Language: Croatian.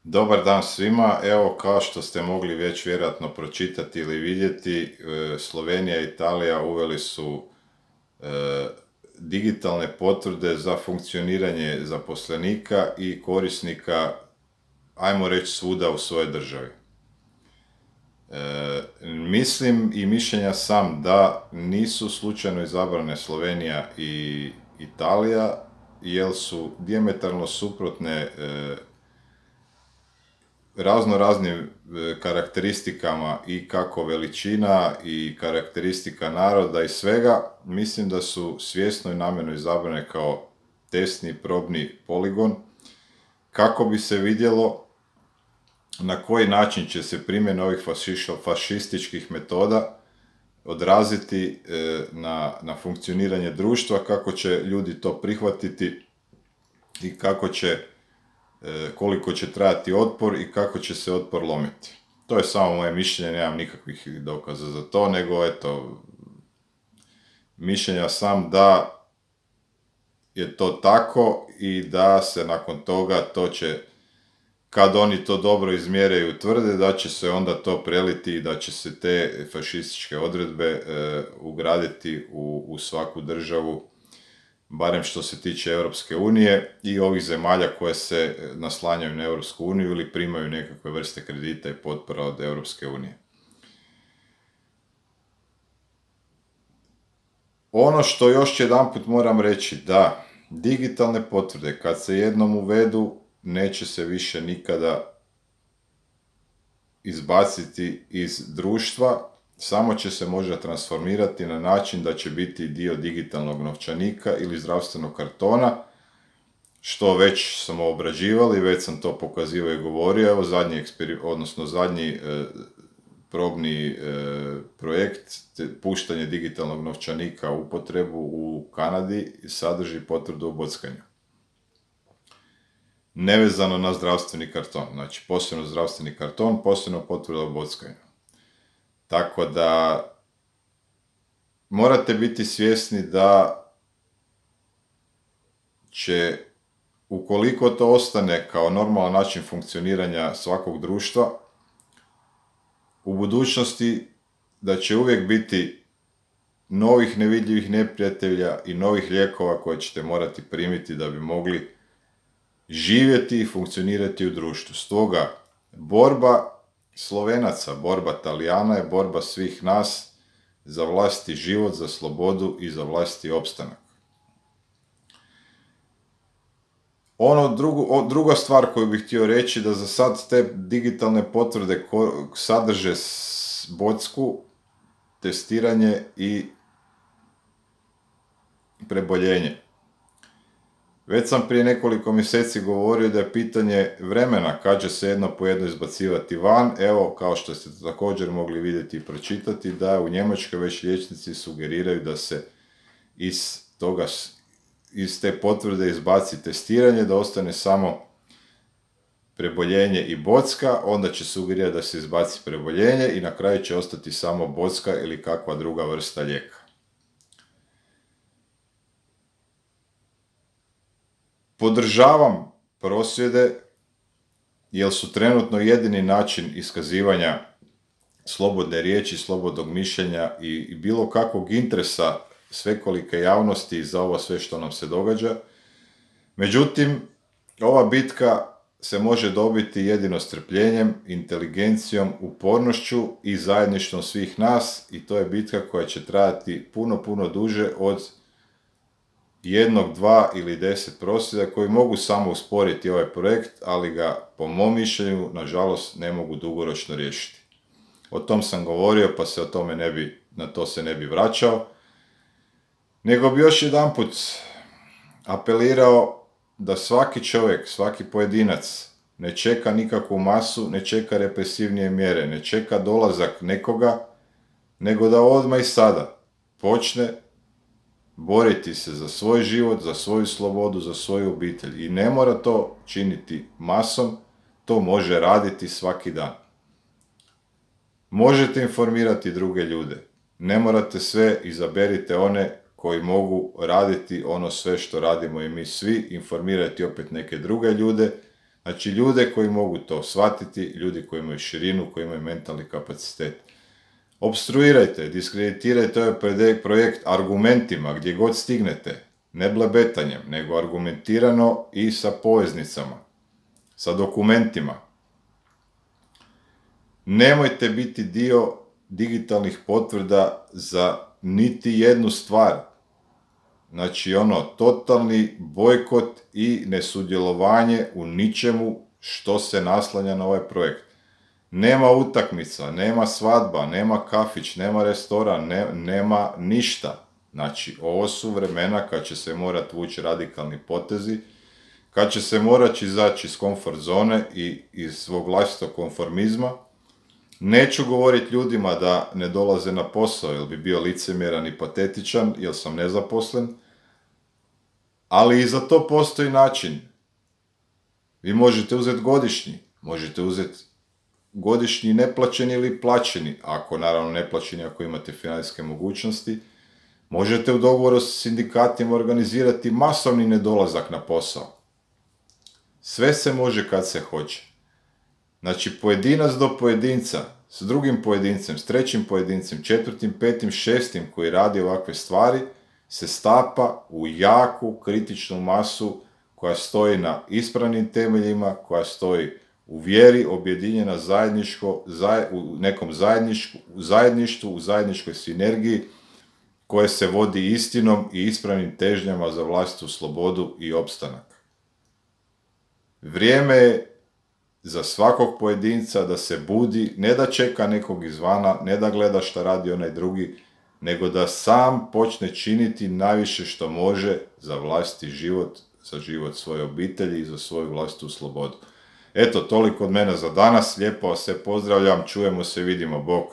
Dobar dan svima. Evo, kao što ste mogli već vjerojatno pročitati ili vidjeti, Slovenija i Italija uveli su digitalne potvrde za funkcioniranje zaposlenika i korisnika, ajmo reći, svuda u svojoj državi. Mislim i mišljenja sam da nisu slučajno izabrane Slovenija i Italija, jer su dijametralno suprotne raznim karakteristikama i kako veličina i karakteristika naroda i svega. Mislim da su svjesno i namjerno izabrane kao testni probni poligon kako bi se vidjelo na koji način će se primjena ovih fašističkih metoda odraziti na funkcioniranje društva, kako će ljudi to prihvatiti i koliko će trajati otpor i kako će se otpor lomiti. To je samo moje mišljenje, nemam nikakvih dokaza za to, nego eto, mišljenja sam da je to tako i da se nakon toga to će, kad oni to dobro izmjere i utvrde, da će se onda to preliti i da će se te fašističke odredbe ugraditi u svaku državu, barem što se tiče Europske unije i ovih zemalja koje se naslanjaju na Europsku uniju ili primaju nekakve vrste kredita i potpora od Europske unije. Ono što još jedanput moram reći, da digitalne potvrde kad se jednom uvedu neće se više nikada izbaciti iz društva, samo će se možda transformirati na način da će biti dio digitalnog novčanika ili zdravstvenog kartona, što već smo obrađivali, već sam to pokazivao i govorio. Evo zadnji probni projekt, puštanje digitalnog novčanika u upotrebu u Kanadi, sadrži potvrdu o bockanju. Nevezano na zdravstveni karton, znači posebno zdravstveni karton, posebno potvrda o bockanju. Tako da morate biti svjesni da će, ukoliko to ostane kao normalan način funkcioniranja svakog društva, u budućnosti da će uvijek biti novih nevidljivih neprijatelja i novih lijekova koje ćete morati primiti da bi mogli živjeti i funkcionirati u društvu. Stoga, borba Slovenaca, borba Talijana je borba svih nas za vlastiti život, za slobodu i za vlastiti opstanak. Druga stvar koju bih htio reći, da za sad te digitalne potvrde sadrže bocku, testiranje i preboljenje. Već sam prije nekoliko mjeseci govorio da je pitanje vremena kad će se jedno po jedno izbacivati van. Evo, kao što ste također mogli vidjeti i pročitati, da u Njemačkoj već liječnici sugeriraju da se iz te potvrde izbaci testiranje, da ostane samo preboljenje i bocka, onda će sugerirati da se izbaci preboljenje i na kraju će ostati samo bocka ili kakva druga vrsta lijeka. Podržavam prosvjede, jer su trenutno jedini način iskazivanja slobodne riječi, slobodnog mišljenja i bilo kakvog interesa svekolike javnosti za ovo sve što nam se događa. Međutim, ova bitka se može dobiti jedino strpljenjem, inteligencijom, upornošću i zajedništvom svih nas, i to je bitka koja će trajati puno duže od 1, 2 ili 10 prosvjeda koji mogu samo usporiti ovaj projekt, ali ga, po mom mišljenju, nažalost, ne mogu dugoročno riješiti. O tom sam govorio, pa se na to se ne bi vraćao, nego bi još jedanput apelirao da svaki čovjek, svaki pojedinac ne čeka nikakvu masu, ne čeka represivnije mjere, ne čeka dolazak nekoga, nego da odmah i sada počne boriti se za svoj život, za svoju slobodu, za svoju obitelj. I ne mora to činiti masom, to može raditi svaki dan. Možete informirati druge ljude, ne morate sve, izaberite one koji mogu raditi ono sve što radimo i mi svi, informirati opet neke druge ljude. Znači ljude koji mogu to shvatiti, ljudi koji imaju širinu, koji imaju mentalni kapacitet. Obstruirajte, diskreditirajte ovaj projekt argumentima gdje god stignete, ne blebetanjem, nego argumentirano i sa poveznicama, sa dokumentima. Nemojte biti dio digitalnih potvrda za niti jednu stvar. Znači totalni bojkot i nesudjelovanje u ničemu što se naslanja na ovaj projekt. Nema utakmica, nema svadba, nema kafić, nema restoran, nema ništa. Znači, ovo su vremena kad će se morati vući radikalni potezi, kad će se morati izaći iz komfort zone i iz svog vlastitog konformizma. Neću govoriti ljudima da ne dolaze na posao, jer bi bio licemjeran i patetičan, jer sam nezaposlen, ali i za to postoji način. Vi možete uzeti godišnji, možete uzeti godišnji neplaćeni ili plaćeni, ako naravno neplaćeni ako imate financijske mogućnosti. Možete u dogovoru s sindikatima organizirati masovni nedolazak na posao. Sve se može kad se hoće. Znači pojedinac do pojedinca, s drugim pojedincem, s trećim pojedincem, četvrtim, petim, šestim koji radi ovakve stvari, se stapa u jaku kritičnu masu koja stoji na ispravnim temeljima, koja stoji u vjeri, objedinjena u nekom zajedništvu, u zajedničkoj sinergiji, koje se vodi istinom i ispravnim težnjama za vlastitu slobodu i opstanak. Vrijeme je za svakog pojedinca da se budi, ne da čeka nekog izvana, ne da gleda šta radi onaj drugi, nego da sam počne činiti najviše što može za vlastiti život, za život svoje obitelji i za svoju vlastitu slobodu. Eto, toliko od mene za danas, lijepo vas se pozdravljam, čujemo se, vidimo, bok.